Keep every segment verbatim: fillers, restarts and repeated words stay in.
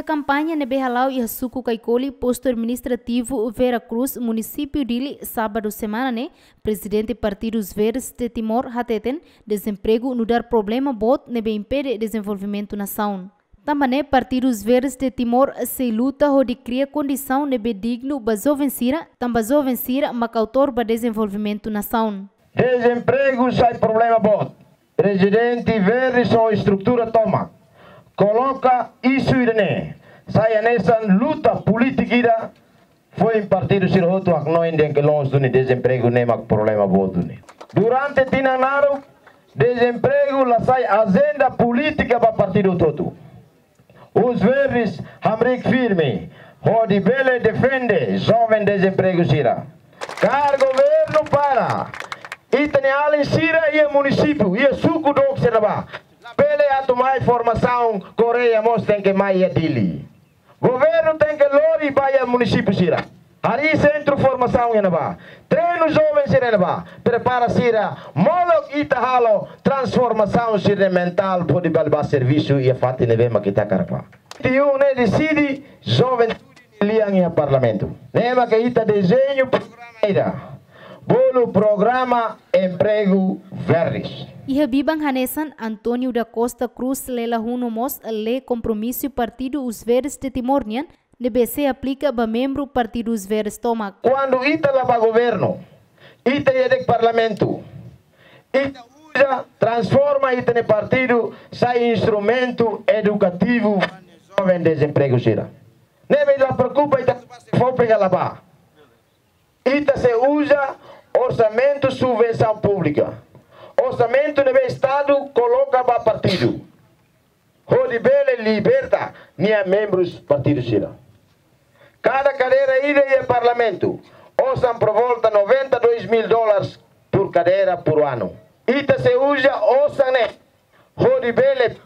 Kampaña ne'ebé hala'o iha suku Kaikoli, postu administrativu Vera Cruz, munisípiu Dili, sábadu semana ne'e, prezidente Partidu Os Verdes de Timor hateten, dezempregu nu'udar problema boot ne'ebé impede dezenvolvimentu nasaun. Tanba ne'e Partidu Os Verdes de Timor sei luta hodi kria kondisaun ne'ebé dignu ba joven sira, tanba joven sira mak autór ba dezenvolvimentu nasaun. Dezempregu sai problema boot. Prezidente Verdes ho estrutura tomak koloka isu ida-ne'e sai hanesan luta polítika ida foin partidu sira hotu haknoin dehan ke loos duni dezempregu ne'e mak problema boot duni. Durante tinan naruk, dezempregu la sai ajenda polítika ba partidu hotu-hotu. Os Verdes hamriik firme hodi bele defende joven dezempregu sira. Kaer governu para ita-nia alin sira iha munisípiu, iha suku dook sira ne'ebá, bele atu mai formasaun, Koreia mós tenke mai iha Dili. Governu tenke lori ba iha munisípiu sira. Harii sentru formasaun iha ne'ebá. Treinu joven sira iha ne'ebá. Prepara sira. Molok ita halo transformasaun sira-nia mentál hodi bele bá servisu iha fatin ne'ebé mak ita hakarak bá. Tiun ne'e deside joven lian iha parlamentu. Ne'e mak ita dezeña programa ida. Bolu programa empregu Verdes. Iha biban hanesan, António da Costa Cruz Lela Huno mós lee kompromisu Partidu Os Verdes de Timor nian, ne'ebé sei aplika ba membru Partidu Os Verdes tomak. Kuandu ita la bá governu, ita iha de'it parlamentu, ita uza, transforma ita-nia partidu sai instrumentu edukativu joven dezempregu sira. Ne'ebé la preokupa ita fó pega la bá. Ita sei uza orsamentu subvensaun públika. Orsamentu ne'ebé Estadu koloka ba partidu. Hodi bele liberta nia membrus partidu sira. Kada kadeira ida iha parlamentu, osan por volta noventa e dois mil dólares por cadeira por ano. Ita sei uza osan ne'e hodi bele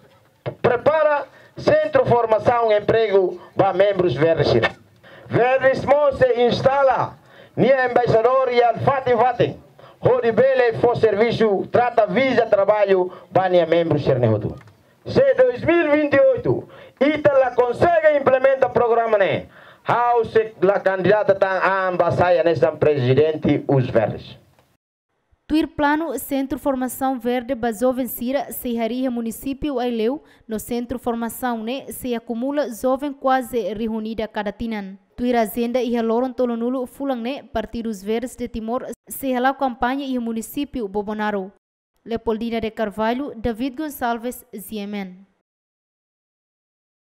prepara sentru formasaun empregu ba membrus Verdes sira. Verdes mós sei instala nia embaixadór iha fatin-fatin, hodi bele fó servisu, trata viza traballu ba nia membrus sira-ne'e hotu. Se dois mil e vinte e oito ita la konsege implementa programa ne'e, ha'u sei la kandidata tan an ba sai hanesan prezidente Os Verdes. Tuir planu, Sentru Formasaun Verde ba joven sira sei harii iha munisípiu Aileu, no sentru formasaun ne'e sei akumula joven kuaze rihun ida kada tinan. Tuir ajenda, iha loron tolunulu fulan ne'e, Partidu Os Verdes de Timor sei hala'o kampaña iha munisípiu Bobonaro. Leopoldina de Carvalho, David Gonçalves, G M N.